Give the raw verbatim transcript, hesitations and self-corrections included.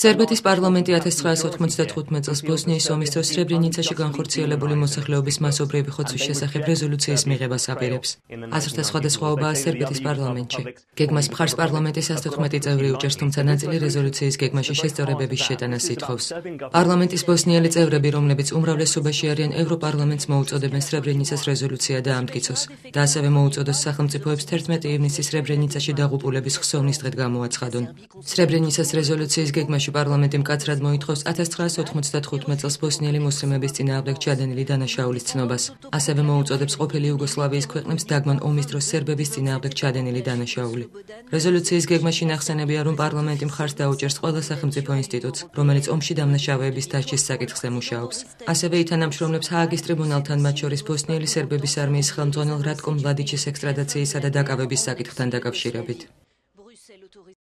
სერბეთის პარლამენტი ათას ცხრაასი ოთხმოცდათხუთმეტ წელს ბოსნიის ომის დროს სრებრენიცაში განხორციელებული მოსახლეობის მასობრივი ხოცვის შესახებ რეზოლუციის მიღებას აპირებს. აზრთა სხვადასხვაობაა სერბეთის პარლამენტში. გეგმას მხარს პარლამენტის ათოთხმეტი წევრი უჭერს, თუმცა ნაწილი რეზოლუციის გეგმაში შესწორებების შეტანას ითხოვს. პარლამენტის ბოსნიელი წევრები, რომლებიც უმრავლესობაში არიან, ევროპარლამენტს მოუწოდებენ სრებრენიცას რეზოლუცია დაამტკიცოს და ასევე მოუწოდოს სახელმწიფოებს თერთმეტი ივნისის სრებრენიცაში დაღუპულების ხსოვნის დღედ გამოაცხადონ. სრებრენიცას რეზოლუციის გეგმაში პარლამენტი მკაცრად მოითხოვს ათას ცხრაასი ოთხმოცდათხუთმეტ წელს ბოსნიელი მუსლიმების წინააღმდეგ ჩადენილი დანაშაულის ცნობას. ასევე მოუწოდებს ყოფილი იუგოსლავიის ქვეყნებს დაგმან ომის დროს სერბების წინააღმდეგ ჩადენილი დანაშაული. რეზოლუციის გეგმაში ნახსენებია, რომ პარლამენტი მხარს დაუჭერს ყველა სახელმწიფო ინსტიტუტს, რომელიც ომში დამნაშავეების დასჯის საკითხზე მუშაობს. ასევე ითანამშრომლებს ჰააგის ტრიბუნალთან, მათ შორის ბოსნიელი სერბების არმიის ხელმძღვანელ რატკო მლადიჩის ექსტრადაციისა და დაკავების საკითხთან დაკავშირებით.